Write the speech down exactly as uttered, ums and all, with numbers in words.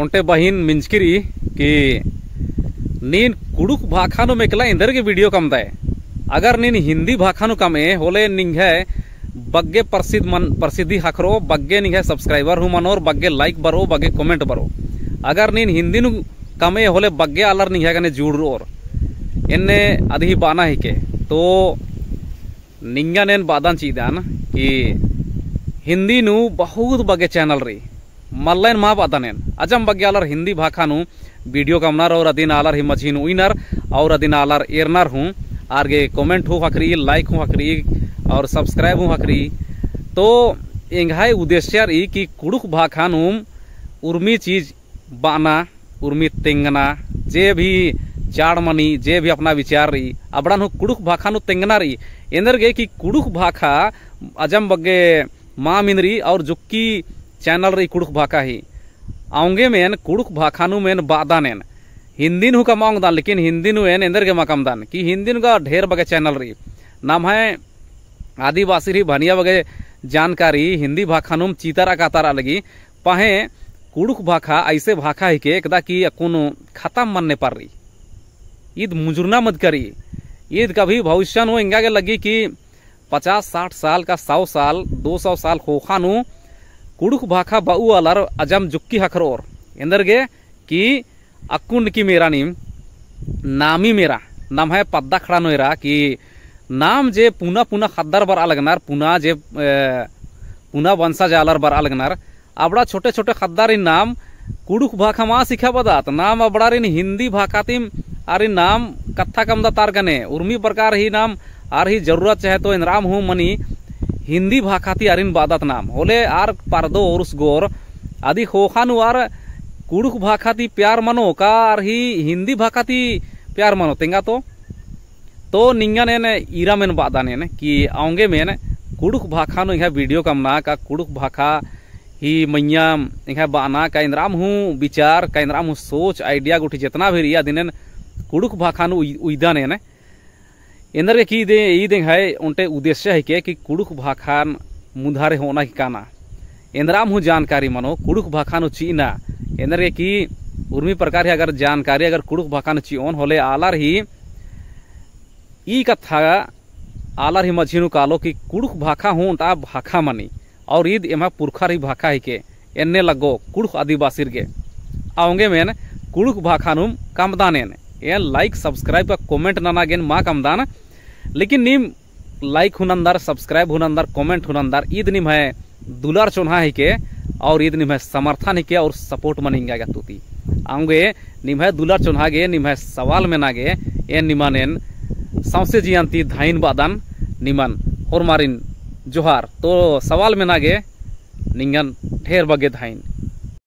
ओन्टे बहिन मिंजकी रई कि नीन कुँड़ुख़ भाखा नू मेकला एन्देरगे video कमदय। अगर नीन हिन्दी भाखा नू कमए होले निंग्है बग्गे प्रसिद्ध मन, प्रसिद्धि ख़क्खरओ, बग्गे निंग्है subscriber हूँ मनोर, बग्गे like बरओ, बग्गे comment बरओ। अगर नीन हिन्दी नू कमए होले बग्गे आलर निंग्है गने जुड़रओर। एन्ने अदही बअना हिके। तो निंगन एन बअदन चिअदन कि हिन्दी नू बहुत बग्गे channel रई, मल्ला एन मा बअदन एन। अजम बग्गे आलर हिन्दी भाखा नू video कमनर और अदिन आलर ही मझी नू उइनर और अदिन आलर एरनर हूँ, आर गे comment हूँ ख़क्खरई, like हूँ ख़क्खरई और subscribe हूँ ख़क्खरई। तो एंग्है उद्देश्य रई कि कुँड़ुख़ भाखा नू उर्मी चीज बअना, उर्मी तेंगना, जे भी चाड़ मनी, जे भी अपना विचार रई, अबड़न हूँ कुँड़ुख़ भाखा नू तेंगना रई। एन्देरगे कि कुँड़ुख़ भाखा अजम बग्गे माम इन्ना रई और जुक्की channel रई कुँड़ुख़ भाखा ही। औंगेम एन कुँड़ुख़ भाखा नूम एन बअदन एन। हिन्दी नू हूँ कमआ ओंगदन, लेकिन हिन्दी नू एन एन्देरगे मा कमदन कि हिन्दी नू गा ढेर बग्गे channel रई। नम्है आदिवासिर ही भनिया बग्गे जानकारी हिन्दी भाखा नूम चितारआ कातारआ लगी। पहें कुँड़ुख़ भाखा ऐसे भाखा हिके एकदा कि अक्कुन खतम मन्ने पर रई। ईद मुजुरना मदका रई। ईद कभी भविष्य नू एंगा गे लग्गी कि पचास साठ साल का सौ साल, दो सौ साल ख़ोख़ा नू कुँड़ुख़ भाखा बऊ आलर अजम जुक्की ख़क्खरओर। एन्देरगे कि अक्कुन की मेरा नीम नामी मेरा, नम्है पद्दा अखड़ा नू एरा कि नाम जे पुना पुना ख़द्दर बरआ लगनर, पुना जे, ए, पुना वंशज आलर बरआ लगनर, अबड़ा छोटे छोटे ख़द्दारिन नाम कुँड़ुख़ भाखा मा सिखाबअदत, नाम अबड़ारिन हिन्दी भाखा तिम आरिन नाम कत्था कमदत आर गने, उर्मी प्रकार ही नाम आर ही जरूरत चाहे तो एन्दराम हूँ मनी हिन्दी भाखा ती आरिन बअदत नाम। होले आर परदो ओर्सगोर अदी ख़ोख़ा नू आर कुँड़ुख़ भाखा ती प्यार मनो का आर ही हिन्दी भाखा ती प्यार मनो तेंगा तो। तो निंगन एन ईरम एन बअदन एन कि औंगेम एन कुँड़ुख़ भाखा नू एंग्है video कमना का कुँड़ुख़ भाखा ही मइय्याँ एंग्है बअना का एन्दराम हूँ विचार का एन्दराम हूँ सोच idea गुट्ठी जेतना भी रई अदिन एन कुँड़ुख़ भाखा नू उइ-, उइदन एन। एन्देरगे कि ईद, ईद एंग्है ओन्टे उद्देश्य हिके कि कुँड़ुख़ भाखान मुन्धारे होअना कि काना। एन्दराम हूँ जानकारी मनो, कुँड़ुख़ भाखा नू चिअना। एन्देरगे कि उर्मी प्रकार ही अगर जानकारी अगर कुँड़ुख़ भाखा नू चिओन होले आलर ही ई कत्था आलर ही मझी नू कालो कि कुँड़ुख़ भाखा हूँ ओन्टा भाखा मनी। और ईद एम्है पुरखर ही भाखा हिके, एन्ने लग्गो कुँड़ुख़ आदिवासिर गे। औंगेम एन कुँड़ुख़ भाखा नूम कमदन एन। एन like, subscribe का comment नना गे एन मा कमदन, लेकिन नीम like हूँ नन्दर, subscribe हूँ नन्दर, comment हूँ नन्दर, ईद निम्है दुलर चोन्हा हिके और ईद निम्है समर्थन हिके और support मनी एंगा गे अत्तु ती। औंगे निम्है दुलर चोन्हा गे, निम्है सवाल मेना गे, एन निमन एन सौंसे जियन ती धइन बअदन, निमन होरमारिन जोहार। तो सवाल मेना गे निंगन ढेर बग्गे धइन।